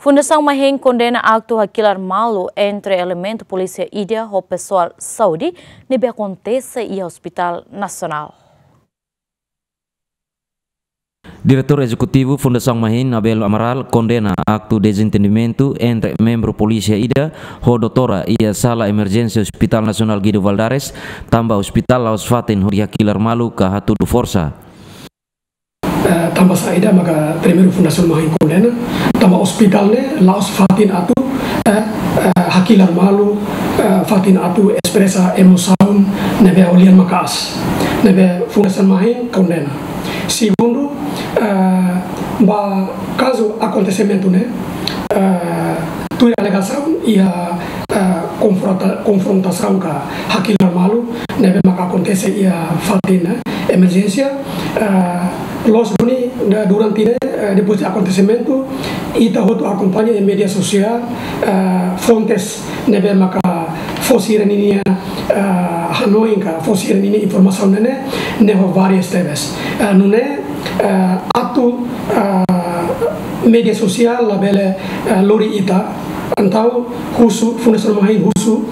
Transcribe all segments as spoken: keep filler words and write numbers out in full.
Fundasaun Mahin kondena aktu hakilar malu entre elementu polísia ida ho pesoál saúde ne'ebé akontese iha Hospitál Nasionál. Diretór Ezekutivu Fundasaun Mahin, Abel Amaral, kondena aktu dezentendimentu entre membru polísia ida ho doutora iha sala emerjénsia Hospitál Nasionál Guido Valadares, tanba ospitál la'ós fatin hodi hakilar malu ka hatudu forsa. Eh, tanba saida maka primeiru Fundasaun Mahin kondena, tanba ospitál ne'e la'ós fatin atu, eh, eh, hakilar malu, eh, fatin atu espresa emosaun ne'ebé ho lian maka'as, ne'ebé Fundasaun Mahin kondena. Segundu, eh, ba kazu akontesimentu ne'e, eh, tuir alegasaun iha, eh, konfronta-, konfrontasaun ka hakilar malu ne'ebé maka akontese iha fatin, eh, emerjénsia, eh, loos duni, da-, durante ne'e, eh, depois de akontesimentu, ita hotu akompaña iha média sosiál, eh, fontes ne'ebé maka fó sira-ninia, eh, hanoin ka fó sira-ninia informasaun ne'e, ne'e ho várias tebes. Eh, nune'e, eh, atu, eh, média sosiál labele, eh, lori ita, entaun husu, Fundasaun Mahin husu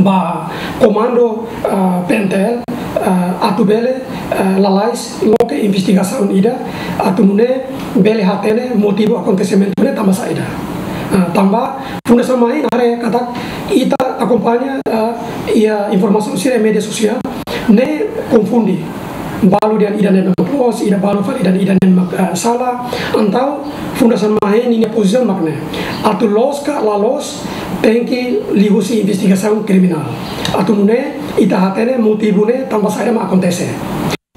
ba komandu, eh, P N T L, eh, atu bele, eh, lalais loke investigasaun ida, atu nune'e bele hatene motivu akontesimentu ne'e tanba saida. Eh, tanba Fundasaun Mahin haree katak ita akompaña, eh, iha informasaun sira média sosiál ne'e konfunde. Balu dehan ida-ne'e mak loos, ida balu fali dehan ida-ne'e mak, eh, sala. Entaun Fundasaun Mahin ninia pozisaun mak ne'e. Atu loos ka la loos, tenke liuhusi investigasaun kriminál. Atu nune'e ita hatene motivu ne'e tanba saida mak akontese.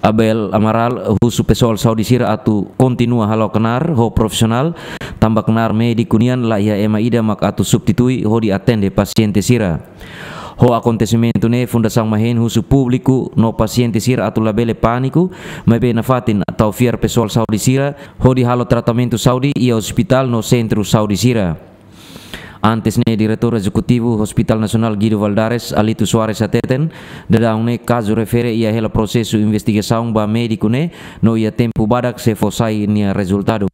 Abel Amaral husu pesoál saúde sira atu kontinua halo knaar ho profisionál, tanba knaar médiku nian la iha ema ida mak atu substitui hodi atende pasiente sira. Ho akontesimentu ne'e Fundasaun Mahin husu públiku no pasiente sira atu labele pániku, maibé nafatin tau fiar pesoál saúde sira hodi halo tratamentu saúde iha ospitál no sentru saúde sira. Antes ne'e Diretór Ezekutivu Hospitál Nasionál Guido Valadares, Alito Soares hateten, daudaun ne'e kazu refere iha hela prosesu investigasaun ba médiku ne'e, no iha tempu badak sei fó sai nia rezultadu.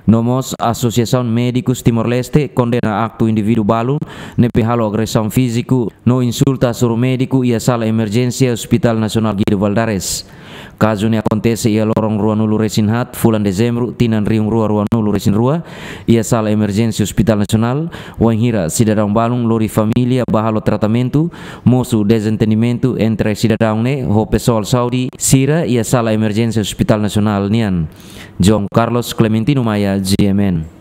No mós Asosiasaun Médikus Timor-Leste kondena aktu indivíduu balu ne'ebé halo agresaun fíziku no insulta hasoru médiku iha sala emerjénsia Hospitál Nasionál Guido Valadares. Kazu ne'e akontese iha loron ruanulu resin haat fulan Dezembru tinan rihun rua ruanulu resin rua, iha sala emerjénsia Hospitál Nasionál, wainhira sidadaun balun lori família ba halo tratamentu, mosu dezentendimentu entre sidadaun ne'e ho pesoál saúde sira iha sala emerjénsia Hospitál Nasionál nian. João Carlos Clementino Maia, G M N.